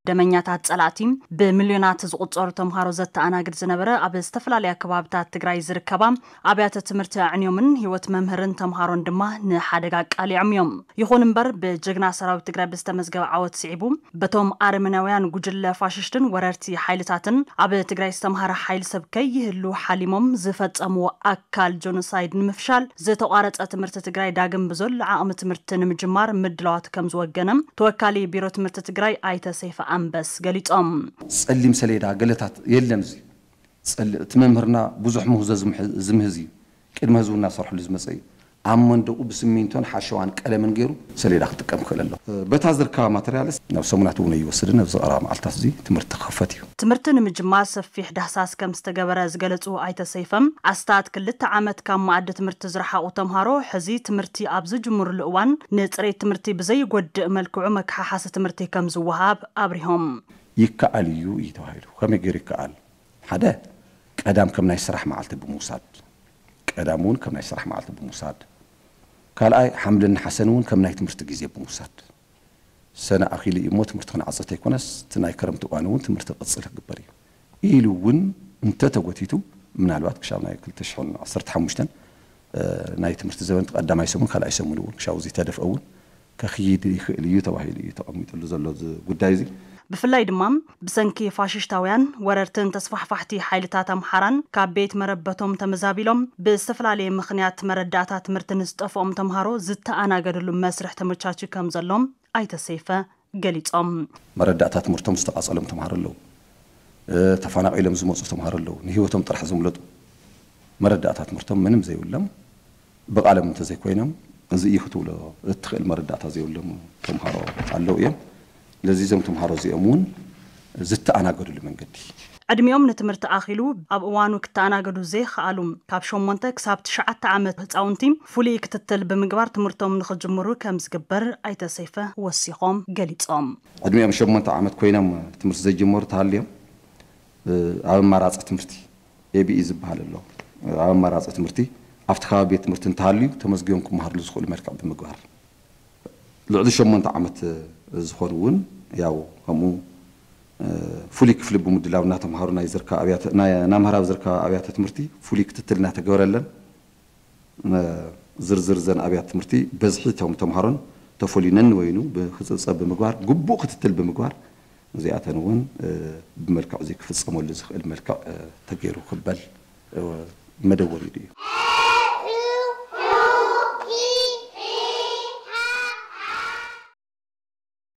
ደመኛታት ጸላእቲ፣ ብሚልዮናት ዝቑጸሩ ተምሃሮ ዘተኣናግድ ዝነበረ፣ ኣብ ዝተፈላለያ ከባብታት ትግራይ ዝርከባ ኣብያተ ትምህርቲ ኣዕንዮምን ህይወት መምህርን ተምሃሮን ድማ ንሓደጋ ኣቃሊዖም እዮም። ይኹን እምበር፣ ብጀግና ሰራዊት ትግራይ ብዝተመዝገበ ዓወት ስዒቡ፣ በቶም ኣረመናውያን ጉጅለ ፋሽስትን ወረርቲ ሓይልታትን ኣብ ትግራይ ዝተምሃረ ሓይሊ ሰብ ከይህሉ ሓሊሞም ዝፈጸምዎ ኣካል ጆኖሳይድ ንምፍሻል፣ ዝተቋረጸ ትምህርቲ ትግራይ ዳግም ብዘሎ ዓቕሚ ትምህርቲ ንምጅማር ምድላዋት ከም ዝወገነ ተወካሊ ቢሮ ትምህርቲ ትግራይ ኣይተ ሰይፈ ኣንበስ ገሊጾም። ጸሊም ሰሌዳ ገለታት የለን። እዚ ጸል-፣ እቲ መምህርና ብዙሕ ምህዞ ዝምሕ-፣ ዝምህዝ እዩ። ቅድሚ ህዝቡ እናሰርሐሉ ዝመጸ እዩ። ኣብ መንደቑ ብስሚንቶን ሓሸዋን ቀለምን ገይሩ ሰሌዳ ክጥቀም ክኽእል ኣለዎ። በታ ዝርከባ ማተርያልስ ናብ ሰሙናት እውን ኣይወስድን። ኣብዚ ቀረባ መዓልታት እዚ ትምህርቲ ክኽፈት እዩ። ትምህርቲ ንምጅማር ሰፊሕ ዳህሳስ ከም ዝተገበረ ዝገለጹ ኣይተ ሰይፈም፣ ኣስታት ክልተ ዓመት ካብ መኣዲ ትምህርቲ ዝረሓቑ ተምሃሮ ሕዚ ትምህርቲ ኣብ ዝጅምርሉ እዋን ንፅሬት ትምህርቲ ብዘይጎድእ መልክዑ መከሓሓሲ ትምህርቲ ከም ዝወሃብ ኣብሪሆም። ይከኣል እዩ እዩ ተባሂሉ። ከመይ ገይሩ ይከኣል? ሓደ፣ ቀዳም ከም ናይ ስራሕ መዓልቲ ብምውሳድ፣ ቀዳም እውን ከም ናይ ስራሕ መዓልቲ ብምውሳድ፣ ካልኣይ፣ ሓምልን ነሓሰን እውን ከም ናይ ትምህርቲ ግዜ ብምውሳድ፣ ሰነ ኣኺሉ እዩ እሞ ትምህርቲ ክንዓጽ ተይኮነስ፣ እቲ ናይ ክረምቲ እዋን እውን ትምህርቲ ክቕጽል ክግበር እዩ ኢሉ እውን እንተተጎቲቱ፣ ምናልባት ክሻብ ናይ ክልተ ሽሕን ዓሰርተ ሓሙሽተን፣ እ፣ ናይ ትምህርቲ ዘበን ቀዳማይ ሰሙን ካልኣይ ሰሙን እውን ክሻብ እዚ ተደፍአ እውን ከኽይድ ይኽእል እዩ ተባሂሉ እዩ ተቐሚጥሉ ዘሎ እዚ ጉዳይ እዚ። ብፍላይ ድማ ብሰንኪ ፋሽሽታውያን ወረርትን ተስፋሕፋሕቲ ሓይልታት ኣምሓራን ካብ ቤት መረበቶም ተመዛቢሎም ብዝተፈላለየ ምኽንያት መረዳእታ ትምህርቲ ንዝጠፍኦም ተምሃሮ ዝተኣናገድሉ መስርሕ ተመቻችዩ ከም ዘሎም ኣይተ ሰይፈ ገሊጾም። መረዳእታ ትምህርቶም ዝተቓጸሎም ተምሃሮ ኣለዉ። እ፣ ተፈናቒሎም ዝመጹ ተምሃሮ ኣለዉ። ንህይወቶም ጥራሕ ዘምለጡ መረዳእታ ትምህርቶም ምንም ዘይብሎም ብቓሎም እንተዘይኮይኖም እዚ እዩ ክትብሎ እትኽእል መረዳእታ ዘይብሎም ተምሃሮ ኣለዉ እዮም። ስለዚ እዞም ተምሃሮ እዚኦም እውን ዝተኣናገድሉ መንገዲ ዕድሚኦም ንትምህርቲ ኣኺሉ ኣብ እዋኑ ክተኣናገዱ ዘይኸኣሉ ካብ ሸሞንተ ክሳብ ትሽዓተ ዓመት ህፃውንቲ ፍሉይ ክትትል ብምግባር ትምህርቶም ንኽጅምሩ ከም ዝግበር ኣይተ ሰይፈ ወሲኾም ገሊጾም። ዕድሚኦም ሸሞንተ ዓመት ኮይኖም ትምህርቲ ዘይጀመሩ ተሃልዮም፣ እ፣ ኣብ ኣማራፂ ትምህርቲ ኤቢኢ ዝበሃል ኣሎ። ኣብ ኣማራፂ ትምህርቲ ኣብቲ ከባቢ ቤት ትምህርቲ እንተሃልዩ ተመዝጊቦም ክመሃርሉ ዝኽእሉ መልክዕ ብምግባር፣ ልዕሊ ሸሞንተ ዓመት ዝኾኑ እውን ያው ከምኡ፣ እ፣ ፍሉይ ክፍሊ ብምድላው እናተምሃሩ ናይ ዝርከባ ኣብያተ፣ ናይ፣ እናምሃራ ኣብ ዝርከባ ኣብያተ ትምህርቲ ፍሉይ ክትትል እናተገበረለን፣ እ፣ ዝርዝር ዘን ኣብያተ ትምህርቲ በዝሒ እቶም ተምሃሮን ተፈልዩ ነንበይኑ ብክፅብፀብ ብምግባር፣ ግቡእ ክትትል ብምግባር፣ እዚኣተን እውን፣ እ፣ ብመልክዕ እዚ ክፍፀመሉ ዝኽእል መልክዕ፣ እ፣ ተገይሩ ክበል፣ እ፣ መደብ ወሪዱ እዩ።